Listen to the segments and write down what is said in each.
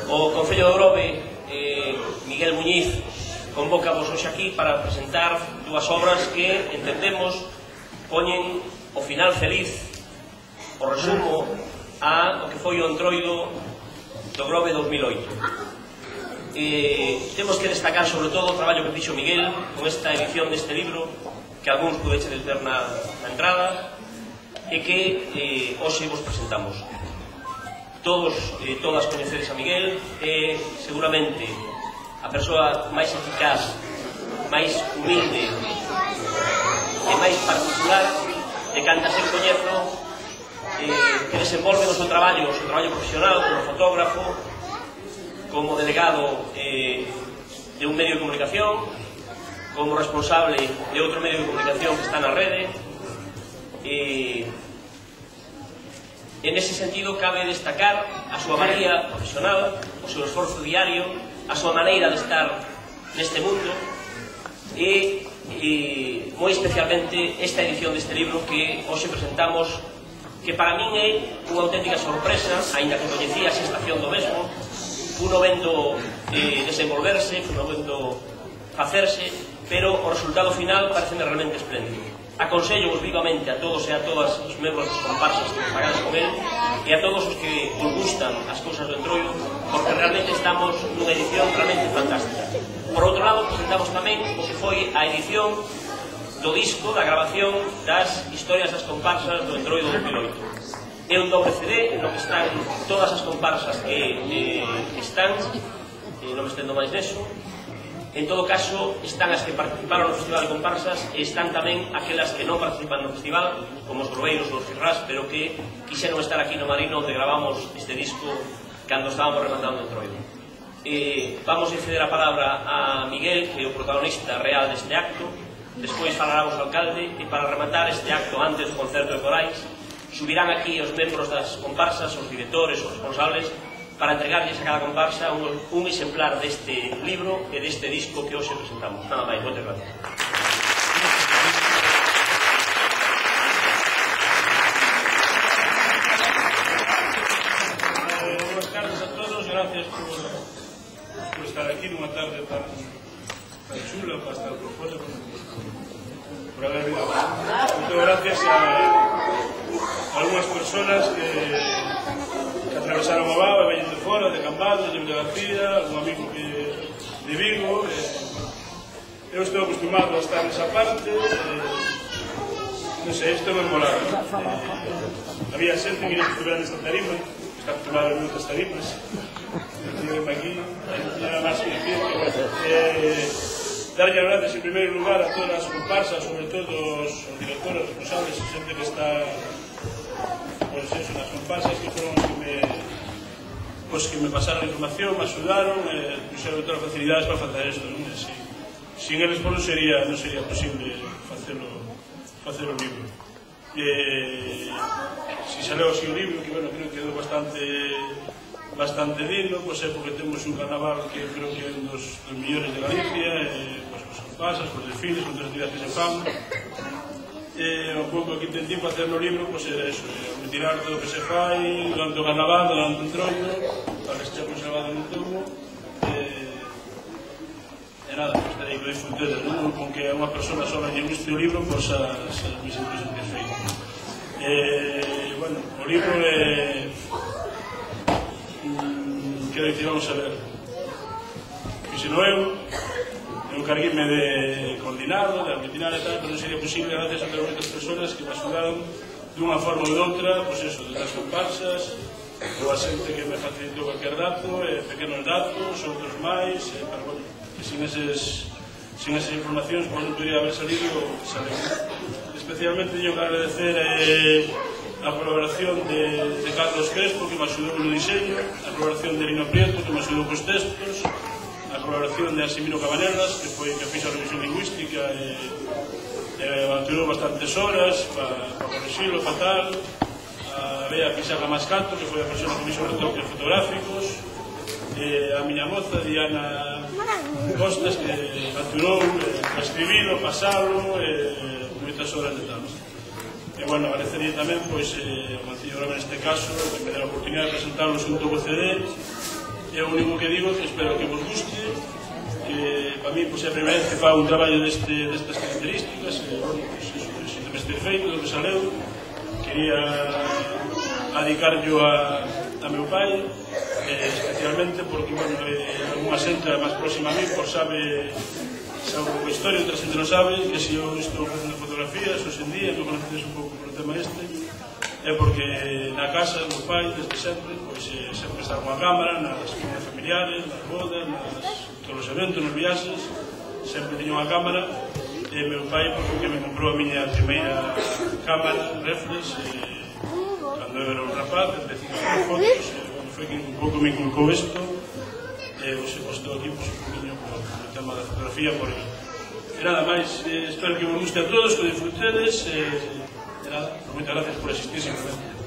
O Concello de Grove, Miguel Muñiz, convócavos hoxe aquí para presentar dúas obras que entendemos poñen o final feliz, o resumo a o que foi o Entroido do Grove 2008. Temos que destacar sobre todo o traballo que fixo Miguel con esta edición deste libro que algúns podedes ver na entrada e que hoxe vos presentamos. Todos e todas coñecedes a Miguel, é seguramente a persoa máis eficaz, máis humilde e máis particular de cantas eu coñezo, que desenvolve o seu traballo profesional como fotógrafo, como delegado de un medio de comunicación, como responsable de outro medio de comunicación que está na rede. En ese sentido cabe destacar a súa valía profesional, o seu esforzo diario, a súa maneira de estar neste mundo e moi especialmente esta edición deste libro que hoxe presentamos, que para min é unha auténtica sorpresa, aínda que coñecía a xestación do mesmo, uno vendo desenvolverse, uno vendo facerse, pero o resultado final parece realmente espléndido. Aconsello vivamente a todos e a todas os membros dos comparsas que pagades con él e a todos os que os gustan as cousas do Entroido, porque realmente estamos nunha edición realmente fantástica. Por outro lado, presentamos tamén o que foi a edición do disco, da grabación das historias das comparsas do Entroido 2008. É un doble CD no que están todas as comparsas que están, non me estendo máis neso. En todo caso, están as que participaron no Festival de Comparsas e están tamén aquelas que non participan no festival, como os Groveiros ou os Firrás, pero que quixeron estar aquí no Marino onde gravamos este disco cando estábamos rematando o Entroido. Vamos a ceder a palabra a Miguel, que é o protagonista real deste acto. Despois falará o alcalde e para rematar este acto antes do concerto de corais subirán aquí os membros das comparsas, os directores, os responsables, para entregarles a cada comparsa un exemplar deste libro e deste disco que hoxe presentamos. Nada máis, moitas gracias. Buenas tardes a todos, gracias por estar aquí nunha tarde tan chula para estar por fora, por haber vindo. Moito gracias a algunhas personas que atravesaron o Vao e veñen de fora, de Cambados, de García, un amigo de Vigo. Eu estou acostumado a estar nesa parte, non sei, isto é memorable. Había xente que non estuviera nesta tarima, que está acostumado a moitas tarimas, estive aquí, non era máis que decir darlle as gracias en primeiro lugar a todas as comparsas, sobre todo os directores, responsables, a xente que está nas comparsas, que foron os que me pasaron a información, me axudaron, puxeron todas as facilidades para facer isto. Sin eles non sería posible facer o libro. Si saleu así o libro, que creo que quedou bastante lindo, pois é porque temos un carnaval que creo que é un dos millores de Galicia, as comparsas, os desfiles, con todas as actividades que se fan. Un pouco que intentei facer no libro, pois era eso, retirar todo o que se fai durante o carnaval, durante o Entroido, para que esteja conservado no tomo. E nada, pois terei que disfrutedes, non? Con que unha persona sola lle guste o libro, pois as mis impresiones que feito. Bueno, o libro é... que dicir, vamos a ver. Fixeno eu encarguime de coordinar, de aglutinar e tal, pero non sería posible gracias a todas as persoas que me axudaron dunha forma ou doutra, pois eso, desde as comparsas, ou a xente que me facilitou cualquier dato, pequenos datos, outros máis, pero bueno, que sin esas informacións non podría haber salido o que saleu. Especialmente teño que agradecer a colaboración de Carlos Crespo, que me axudou no diseño, a colaboración de Lino Prieto, que me axudou cos textos, a colaboración de Arsimiro Cabanelas, que fixo a revisión lingüística e mantuvo bastantes horas para corrixilo fatal, a Bea Pixarra Mascato, que foi a persona que fixo retoques fotográficos, a miña moza, Diana Costas, que mantuvo para escribilo, pasalo, moitas horas de tal. E, bueno, agradecería tamén, pois, ao Concello de Grove neste caso, que me dá a oportunidade de presentar o segundo CD, E o único que digo que espero que vos guste, que para mí é a primeira vez que fago un traballo destas características, e, bueno, sinto-me satisfeito do que saleu. Quería dedicarlo a meu pai, especialmente porque, bueno, alguna xente máis próxima a mí, por sabe un pouco a historia, outra xente non sabe, que se eu estou facendo fotografías hoxe en día, que conocedes un pouco por o tema este, é porque na casa, meu pai, desde sempre, pois sempre está con a cámara, nas comunidades familiares, nas bodas, todos os eventos, nos viaxes, sempre tiña unha cámara, e meu pai, pois, que me comprou a miña primeira cámara, reflex, cando eu era un rapaz, empecé a facer fotos, e foi que un pouco me inculcou isto, e estou aquí, pois, un poquinho por o tema da fotografía, por ele. E nada máis, espero que vos guste a todos, que disfrutedes, e nada, moitas gracias por asistir simplemente.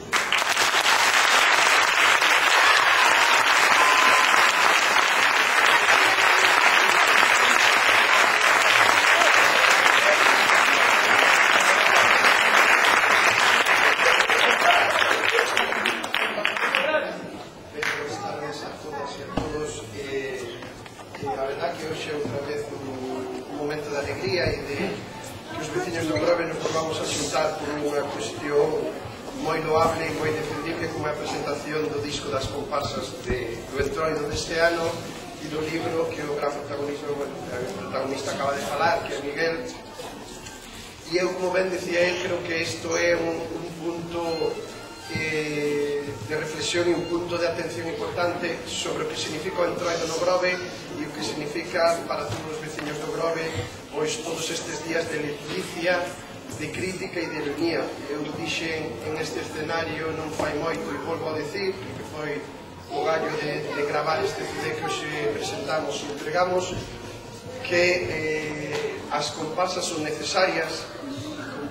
A verdad que hoxe é outra vez un momento de alegría e de que os veciños do Grove nos volvamos a xuntar por unha cuestión moi loable e moi defendible como a presentación do disco das comparsas do Entroido deste ano e do libro que o gran protagonista acaba de falar, que é Miguel. E eu, como ben decía él, creo que isto é un punto de reflexión e un punto de atención importante sobre o que significa o Entroido no Grove e o que significa para todos os veciños do Grove pois todos estes días de leticia, de crítica e de ironía. Eu dixen en este escenario non fai moito e volvo a decir que foi o gallo de gravar este CD que hoxe presentamos e entregamos, que as comparsas son necesarias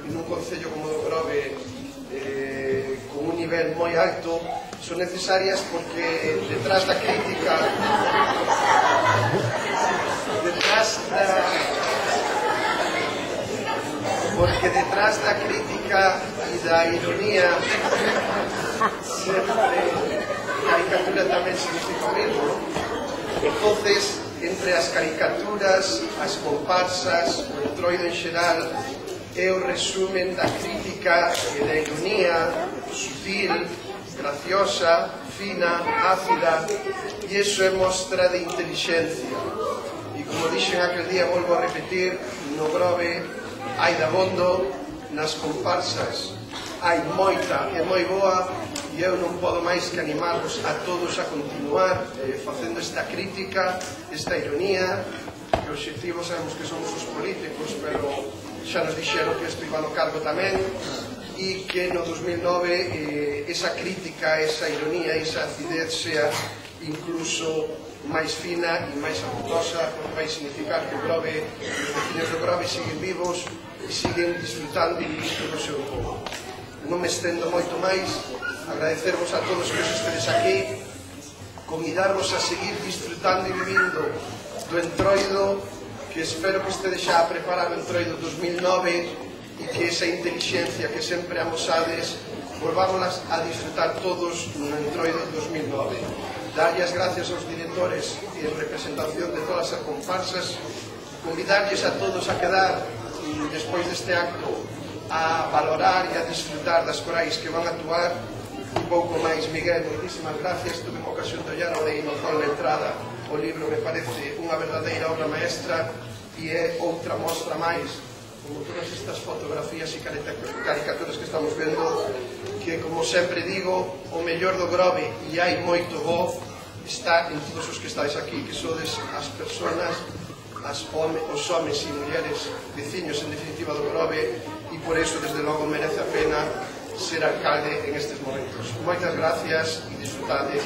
en un concello como do Grove con un nivel moi alto, son necesarias porque detrás da crítica e da ironía sempre a caricatura tamén significa o mesmo. Entonces, entre as caricaturas, as comparsas, o Entroido en xeral é o resumen da crítica e da ironía sutil, graciosa, fina, ácida, e iso é mostra de intelixencia. E como dixen aquel día, volvo a repetir, no Grove hai dabondo, nas comparsas hai moita e moi boa, e eu non podo máis que animarvos a todos a continuar facendo esta crítica, esta ironía, que o obxectivo sabemos que somos os políticos, pero xa nos dixeron que isto iba no cargo tamén, e que no 2009 esa crítica, esa ironía, esa acidez sea incluso máis fina e máis apuntosa, porque vai significar que o Grove, os veciños do Grove siguen vivos e siguen disfrutando e vivindo do seu povo. Non me estendo moito máis, agradecervos a todos que os estedes aquí, convidarvos a seguir disfrutando e vivindo do Entroido, que espero que estedes xa a preparar o Entroido 2009 e que esa inteligencia que sempre amosades volvámonos a disfrutar todos no Entroido 2009. Darlle as gracias aos directores e en representación de todas as comparsas, convidarlles a todos a quedar despois deste acto a valorar e a disfrutar das corais que van a actuar. Un pouco máis, Miguel, moitísimas gracias. Tuve a ocasión de ollar ao de Inozón na entrada. O libro me parece unha verdadeira obra maestra e é outra mostra máis, como todas estas fotografías e caricaturas que estamos vendo, que, como sempre digo, o mellor do Grove, e hai moito bo, está en todos os que estáis aquí, que sodes as persoas, os homes e mulleres veciños, en definitiva, do Grove, e por iso, desde logo, merece a pena ser alcalde en estes momentos. Moitas gracias e disfrutade.